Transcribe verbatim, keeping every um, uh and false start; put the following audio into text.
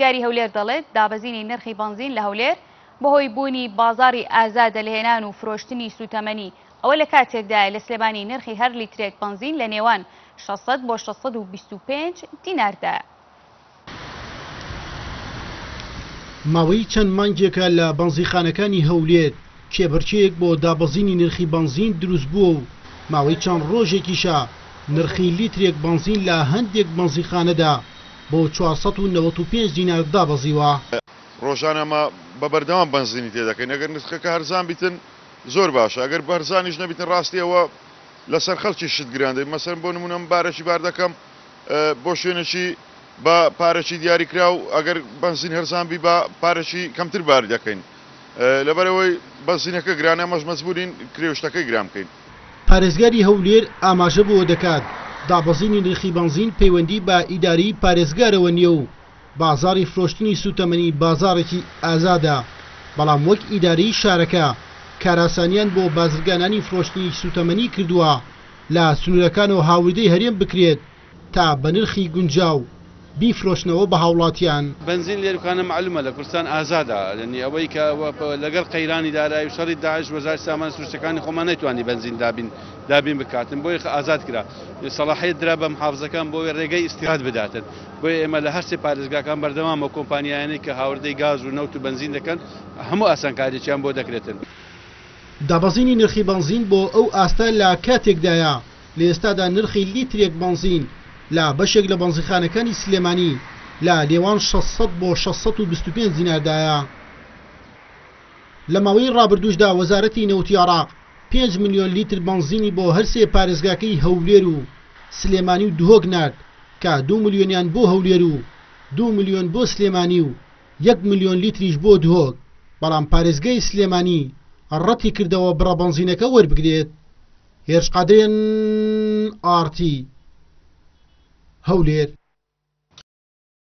پارێزگاری هەولێر دەڵێت دابەزینی نرخی بەنزین لە هەولێر بەهۆی بوونی بازاڕی ئازادە لە هێنان و فرۆشتنی سوتەمەنی. ئەوە لە کاتێکدایە لە سلێمانی نرخی هەر لیترێک بەنزین لە نێوان شەش سەد بۆ شەش سەد و بیست و پێنج دیناردایە. ماوەی چەند مانگێکە لە بەنزینخانەکانی هەولێر کێبڕکێیەک بۆ دابەزینی نرخی بەنزین دروست بووە و ماوەی چەند ڕۆژێکیشە نرخی لیترێک بەنزین لە هەندێک بەنزینخانەدا بۆ چوار سەد و نەوەد و پێنج دینار دابەزیوە. ڕۆژانە ئەمە بە بەردەوام بەنزینی تێدەکەین، ئەگەر نرخەکە هەرزان بیتن زۆر باشە، ئەگەر هەرزانیش نەبیتن ڕاستیەوە لەسەر خەڵکی شت گران دەبێت. مەسەرەن بۆ نمونە من بارەکی بار دەکەم بۆ شوێنێکی بە پارەکی دیاریکراو، ئەگەر بەنزین هەرزان بی بە پارەکی کەمتر بار دەکەین، لەبەرەوەی بەنزینەکە گرانە ئەمەش مەجبورین کرێوشتەکەی گران بکەین. پارێزگاری هەولێر ئاماژە بۆ دەکات دابەزینی نرخی بەنزین پەیوەندی بە ئیداری پارێزگارەوە نییە و بازاڕی فرۆشتنی سوتەمەنی بازاڕێکی ئازادە، بەڵام وەک ئیداری شارەکە کاراسانیان بۆ بازرگانانی فرۆشتنی سوتەمەنی کردووە لە سنوورەکانەوە هاوردەی هەرێم بکرێت تا بە نرخی گونجاو بیفرۆشنەوە بە هاوڵاتیان. بەنزین لێرکانە معلومە لە کوردستان ئازادە، یعنی ئەوەی کە لەگەڵ قەیرانی دارایی و شەڕی داعش وەزارەتی سامانە سروشتەکانی خۆمان نەیتوانی بەنزین دابین دابین بکاتن، بۆیە ئازاد کرا. سەڵاحیەت درا بە محافظەکان بۆ ڕێگەی ئیستیراد بداتن. بۆیە ئێمە لە هەر سێ پارێزگاکان بەردەوامە کۆمپانیایانەی کە هاوردەی گاز و نەوت و بەنزین دەکەن هەموو ئاسانکاریەکیان بۆ دەکرێتن. دابەزینی نرخی بەنزین بۆ ئەو ئاستە لە کاتێکدایە لە ئێستادا نرخی لیترێک بەنزین لە بەشێک لە بەنزینخانەکانی سلێمانی لە نێوان شەش سەد بۆ شەش سەد و بیست و پێنج دیناردایە. لە ماوەی ڕابردووشدا وەزارەتی نەوتی عێراق پێنج ملیۆن لیتر بەنزینی بۆ هەر سێ پارێزگاکەی هەولێر و سلێمانی و دهۆک نارد کە دوو ملیۆنیان بۆ هەولێر و دوو ملیۆن بۆ سلێمانی و یەک ملیۆن لیتریش بۆ دهۆک، بەڵام پارێزگای سلێمانی ڕەتی کردەوە بڕە بەنزینەکە وەربگرێت. هێرش قادرێن، ئاڕتی، هەولێر.